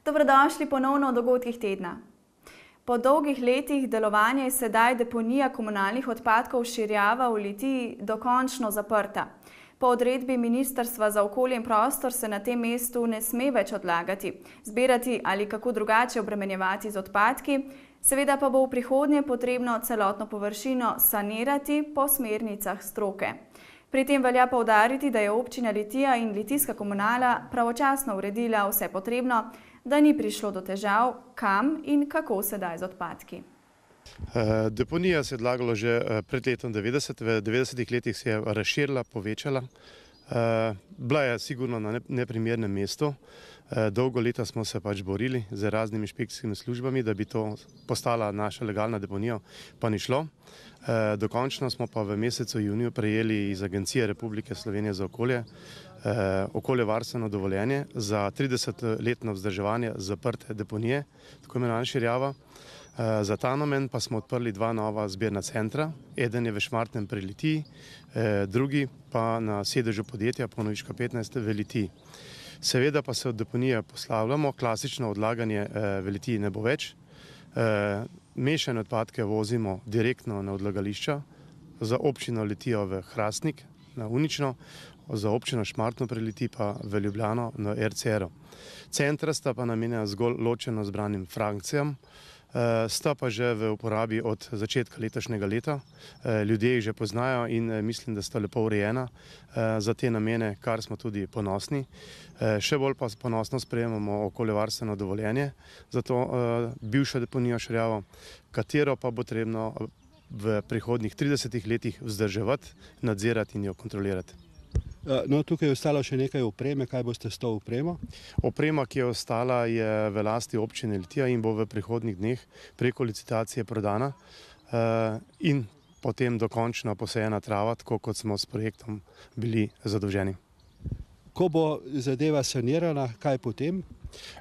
Dobrodošli ponovno v dogodkih tedna. Po dolgih letih delovanja je sedaj deponija komunalnih odpadkov Širjava v Litiji dokončno zaprta. Po odredbi Ministrstva za okolje in prostor se na tem mestu ne sme več odlagati, zbirati ali kako drugače obremenjevati z odpadki, seveda pa bo v prihodnje potrebno celotno površino sanirati po smernicah stroke. Pri tem velja poudariti, da je občina Litija in litijska komunala pravočasno uredila vse potrebno, da ni prišlo do težav, kam in kako sedaj z odpadki. Deponija se je odlagala že pred letom 90. V 90-ih letih se je razširila, povečala. Bila je sigurno na neprimernem mestu. Dolgo leta smo se pač borili z raznimi inšpekcijskimi službami, da bi to postala naša legalna deponija, pa ni šlo. Dokončno smo pa v mesecu juniju prejeli iz Agencije Republike Slovenije za okolje okoljevarstveno dovoljenje za 30-letno vzdrževanje zaprte deponije, tako imenovana Širjava. Za ta namen pa smo odprli dva nova zbirna centra. Eden je v Šmartnem pri Litiji, drugi pa na sedežu podjetja Ponoviška 15 v Litiji. Seveda pa se od deponije poslavljamo, klasično odlaganje v Litiji ne bo več. Mešane odpadke vozimo direktno na odlagališča, za občino Litijo v Hrastnik, na Unično, za občino Šmartno pri Litiji pa v Ljubljano na RCR-u. Centra sta pa namenjena zgolj ločeno zbranim frakcijam, sta pa že v uporabi od začetka letošnjega leta. Ljudje jih že poznajo in mislim, da sta lepo urejena za te namene, kar smo tudi ponosni. Še bolj pa ponosno sprejemamo okoljevarstveno dovoljenje za to bivšo deponijo Širjavo, katero pa bo potrebno v prihodnjih 30 letih vzdrževati, nadzirati in jo kontrolirati. No, tukaj je ostalo še nekaj opreme. Kaj boste s to opremo? Oprema, ki je ostala, je v lasti občine Litija in bo v prihodnjih dneh preko licitacije prodana in potem dokončno posejena trava, tako kot smo s projektom bili zadolženi. Ko bo zadeva sanirana, kaj potem?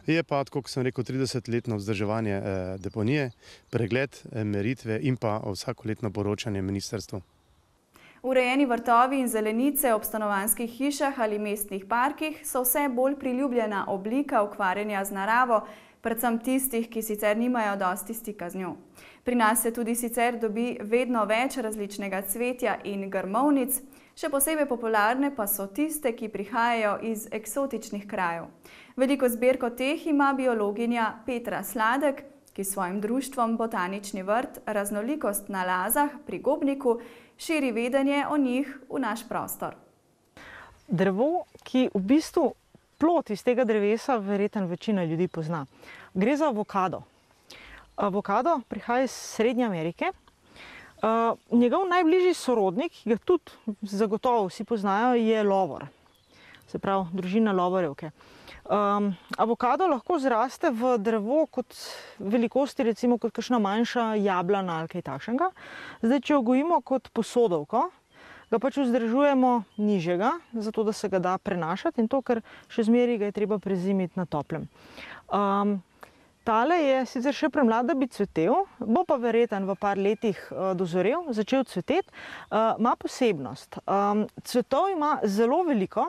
Je pa, tako kot sem rekel, 30-letno vzdrževanje deponije, pregled, meritve in pa vsakoletno poročanje ministrstvu. Urejeni vrtovi in zelenice ob stanovanjskih hišah ali mestnih parkih so vse bolj priljubljena oblika ukvarjanja z naravo, predvsem tistih, ki sicer nimajo dosti stika z njo. Pri nas se tudi sicer dobi vedno več različnega cvetja in grmovnic, še posebej popularne pa so tiste, ki prihajajo iz eksotičnih krajev. Veliko zbirko teh ima biologinja Petra Sladek, ki s svojim društvom Botanični vrt Raznolikost na Lazah pri Gobniku širi vedenje o njih v naš prostor. Drevo, ki v bistvu plod iz tega drevesa verjetno večina ljudi pozna. Gre za avokado. Avokado prihaja iz Srednje Amerike. Njegov najbližji sorodnik, ki ga tudi zagotovo vsi poznajo, je lovor. Se pravi, družina lovorevke. Avokado lahko zraste v drevo kot velikosti, recimo kot kakšna manjša jablana ali kaj takšnega. Zdaj, če jo gojimo kot posodovko, ga pač vzdržujemo nižjega, zato da se ga da prenašati in to, ker še zmeraj ga je treba prezimiti na toplem. Tale je sicer še premlad, da bi cvetel, bo pa verjetno v par letih dozorel, začel cveteti. Ima posebnost. Cvetov ima zelo veliko,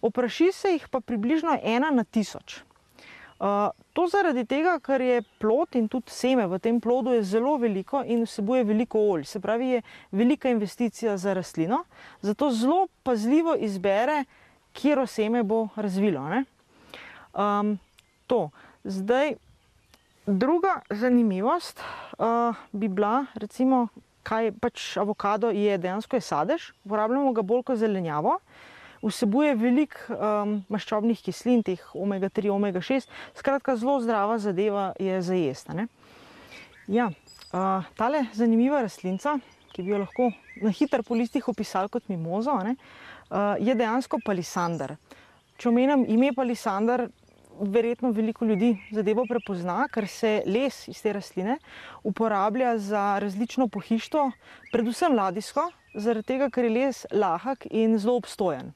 opraši se jih pa približno 1 na 1000. To zaradi tega, ker je plod in tudi seme v tem plodu je zelo veliko in vsebuje veliko olj. Se pravi, je velika investicija za rastlino, zato zelo pazljivo izbere, katero seme bo razvilo. Zdaj, druga zanimivost bi bila, recimo, kaj pač avokado je, dejansko je sadež, uporabljamo ga bolj kot zelenjavo. Vsebuje veliko maščobnih kislin, teh omega 3, omega 6, skratka zelo zdrava zadeva je za jesti. Ja, tale zanimiva rastlinca, ki bi jo lahko na hitro po listih opisali kot mimozo, je dejansko palisander. Če omenim ime palisander, verjetno veliko ljudi zadevo prepozna, ker se les iz te rastline uporablja za različno pohištvo, predvsem ladijsko, zaradi tega, ker je les lahek in zelo obstojen.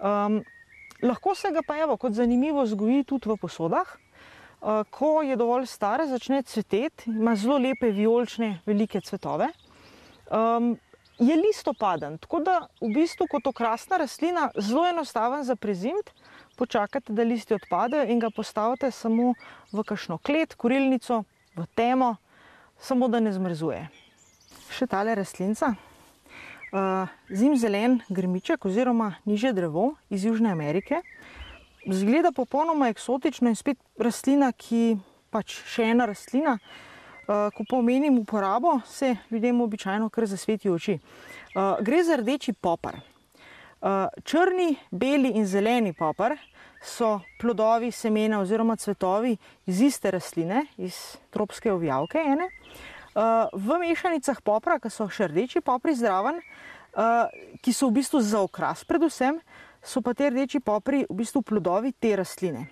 Lahko se ga pa kot zanimivo vzgoji tudi v posodah. Ko je dovolj star, začne cveteti, ima zelo lepe vijolične velike cvetove. Je listopaden, tako da v bistvu kot okrasna rastlina zelo enostaven za prezimiti, počakate, da listi odpadejo in ga postavite samo v kakšno klet, kurilnico, v temo, samo da ne zmrzuje. Še tale rastlinca. Zimzelen grmiček oziroma nižje drevo iz Južne Amerike. Zgleda popolnoma eksotično in spet rastlina, ki pač še ena rastlina. Ko pomenim uporabo, se ljudem običajno kar zasveti oči. Gre za rdeči popar. Črni, beli in zeleni popar so plodovi, semena oziroma cvetovi iz iste rastline, iz tropske ovijavke ene. V mešanicah popra, ki so še rdeči popri zraven, ki so v bistvu za okras predvsem, so pa te rdeči popri v bistvu plodovi te rastline.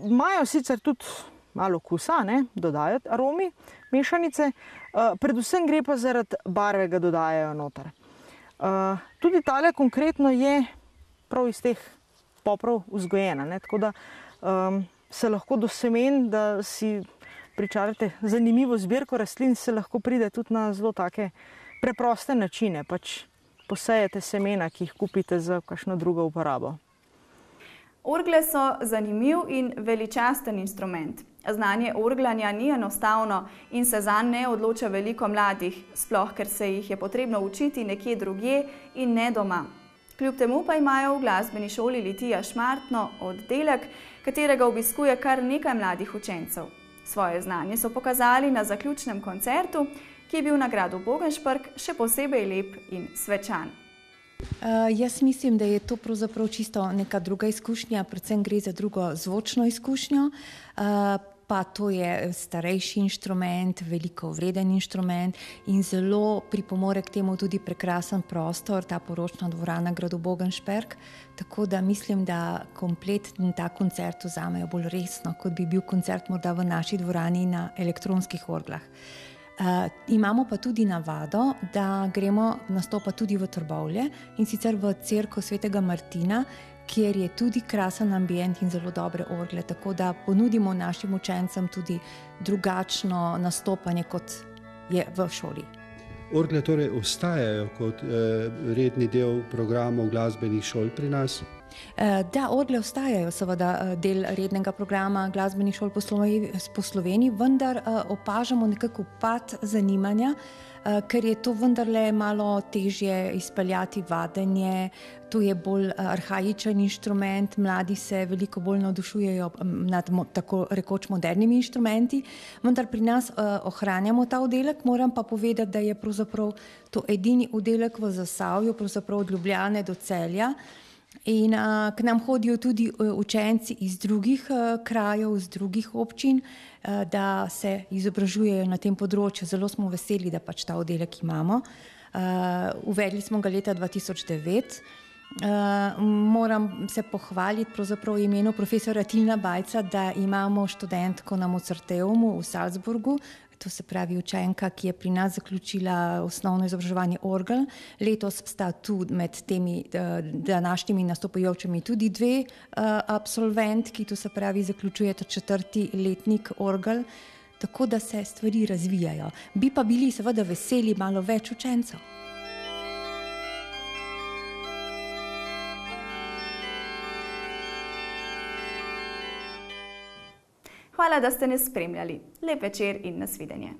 Imajo sicer tudi malo okusa, dodajo aromi mešanice, predvsem gre pa zaradi barve, ga dodajajo noter. Tudi tale konkretno je prav iz teh poprov vzgojena, tako da se lahko do semen, da si pričarate zanimivo zbirko rastlin, se lahko pride tudi na zelo take preproste načine, pač posejete semena, ki jih kupite za kakšno drugo uporabo. Orgle so zanimiv in veličasten instrument. Znanje orglanja ni enostavno in se zanj ne odloča veliko mladih, sploh ker se jih je potrebno učiti nekje drugje in ne doma. Kljub temu pa imajo v glasbeni šoli Litija Šmartno oddelek, katerega obiskuje kar nekaj mladih učencev. Svoje znanje so pokazali na zaključnem koncertu, ki je bil na gradu Bogenšprk še posebej lep in svečan. Jaz mislim, da je to pravzaprav čisto neka druga izkušnja, predvsem gre za drugo zvočno izkušnjo, pa to je starejši inštrument, veliko vreden inštrument in zelo pripomore k temu tudi prekrasen prostor, ta poročna dvorana gradu Bogenšprk, tako da mislim, da kompletni ta koncert vzamejo bolj resno, kot bi bil koncert morda v naši dvorani na elektronskih orglah. Imamo pa tudi navado, da gremo nastopati tudi v Trbovlje in sicer v cerkev Svetega Martina, kjer je tudi krasen ambient in zelo dobre orgle, tako da ponudimo našim učencem tudi drugačno nastopanje, kot je v šoli. Orgle torej ostajajo kot redni del programov glasbenih šol pri nas? Da, orgle ostajajo seveda del rednega programa glasbenih šol po Sloveniji, vendar opažamo nekako upad zanimanja, ker je to vendarle malo težje izpeljati vadenje, to je bolj arhaičen inštrument, mladi se veliko bolj navdušujejo nad tako rekoč modernimi inštrumenti, vendar pri nas ohranjamo ta oddelek, moram pa povedati, da je pravzaprav to edini oddelek v Zasavju, pravzaprav od Ljubljane do Celja. In k nam hodijo tudi učenci iz drugih krajev, iz drugih občin, da se izobražujejo na tem področju. Zelo smo veseli, da pač ta oddelek imamo. Uvedli smo ga leta 2009. Moram se pohvaliti pravzaprav v imenu profesora Tilna Bajca, da imamo študentko na Mozarteumu v Salzburgu, to se pravi učenka, ki je pri nas zaključila osnovno izobraževanje orgel. Letos sta tu med temi današnjimi nastopajočimi tudi dve absolventki, to se pravi zaključujeta 4. letnik orgel, tako da se stvari razvijajo. Bi pa bili seveda veseli malo več učencev. Hvala, da ste nas spremljali. Lep večer in nasvidenje.